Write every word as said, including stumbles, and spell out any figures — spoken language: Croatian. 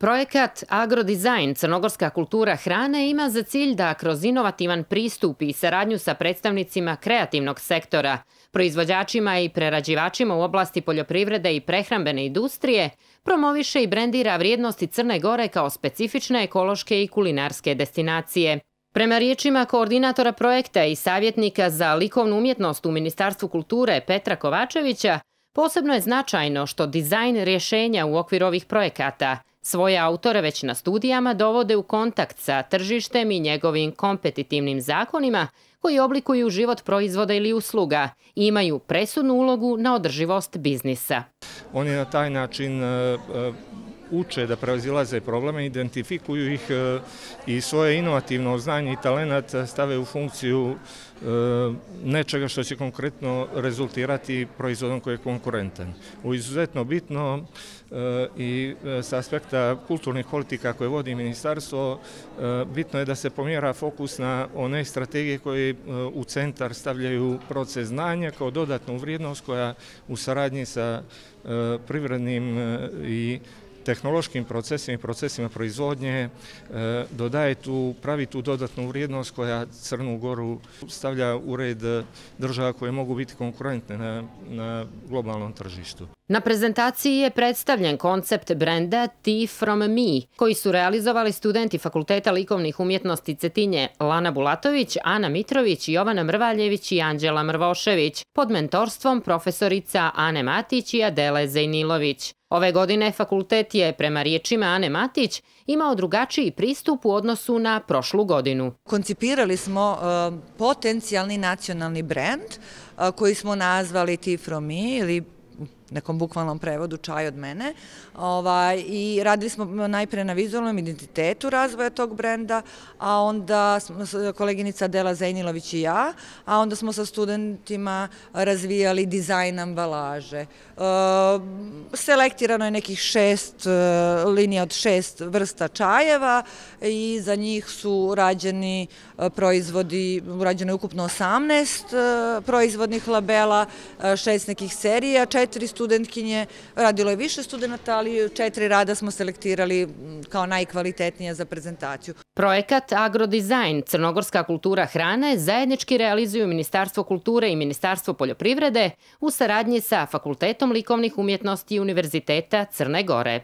Projekat Agrodizajn Crnogorska kultura hrane ima za cilj da kroz inovativan pristup i saradnju sa predstavnicima kreativnog sektora, proizvođačima i prerađivačima u oblasti poljoprivrede i prehrambene industrije, promoviše i brendira vrijednosti Crne Gore kao specifične ekološke i kulinarske destinacije. Prema riječima koordinatora projekta i savjetnika za likovnu umjetnost u Ministarstvu kulture Petra Kovačevića, posebno je značajno što dizajn rješenja u okviru ovih projekata svoje autore već na studijama dovode u kontakt sa tržištem i njegovim kompetitivnim zakonima koji oblikuju život proizvoda ili usluga i imaju presudnu ulogu na održivost biznisa. Oni na taj način uče da prevazilaze probleme, identifikuju ih i svoje inovativno znanje i talenat stave u funkciju nečega što će konkretno rezultirati proizvodom koji je konkurentan. U izuzetno bitno i sa aspekta kulturnih politika koje vodi ministarstvo, bitno je da se pomjera fokus na one strategije koje u centar stavljaju proces znanja kao dodatnu vrijednost koja u saradnji sa privrednim i tehnološkim procesima i procesima proizvodnje dodaje tu, pravi tu dodatnu vrijednost koja Crnu Goru stavlja u red država koje mogu biti konkurentne na, na globalnom tržištu. Na prezentaciji je predstavljen koncept brenda Tea from Me, koji su realizovali studenti Fakulteta likovnih umjetnosti Cetinje Lana Bulatović, Ana Mitrović, Jovana Mrvaljević i Anđela Mrvošević, pod mentorstvom profesorica Ane Matić i Adele Zejnilović. Ove godine fakultet je, prema riječima Ane Matić, imao drugačiji pristup u odnosu na prošlu godinu. Koncipirali smo uh, potencijalni nacionalni brend uh, koji smo nazvali Tea from Me ili nekom bukvalnom prevodu čaj od mene. Ovaj, I radili smo najpre na vizualnom identitetu razvoja tog brenda, a onda koleginica Adela Zejnilović i ja, a onda smo sa studentima razvijali dizajn ambalaže. E, selektirano je nekih šest linija od šest vrsta čajeva i za njih su rađeni proizvodi, urađeno je ukupno osamnaest proizvodnih labela, šest nekih serija, četiri studentkinje, radilo je više studenta, ali četiri rada smo selektirali kao najkvalitetnije za prezentaciju. Projekat Agrodizajn Crnogorska kultura hrane zajednički realizuju Ministarstvo kulture i Ministarstvo poljoprivrede u saradnji sa Fakultetom likovnih umjetnosti Univerziteta Crne Gore.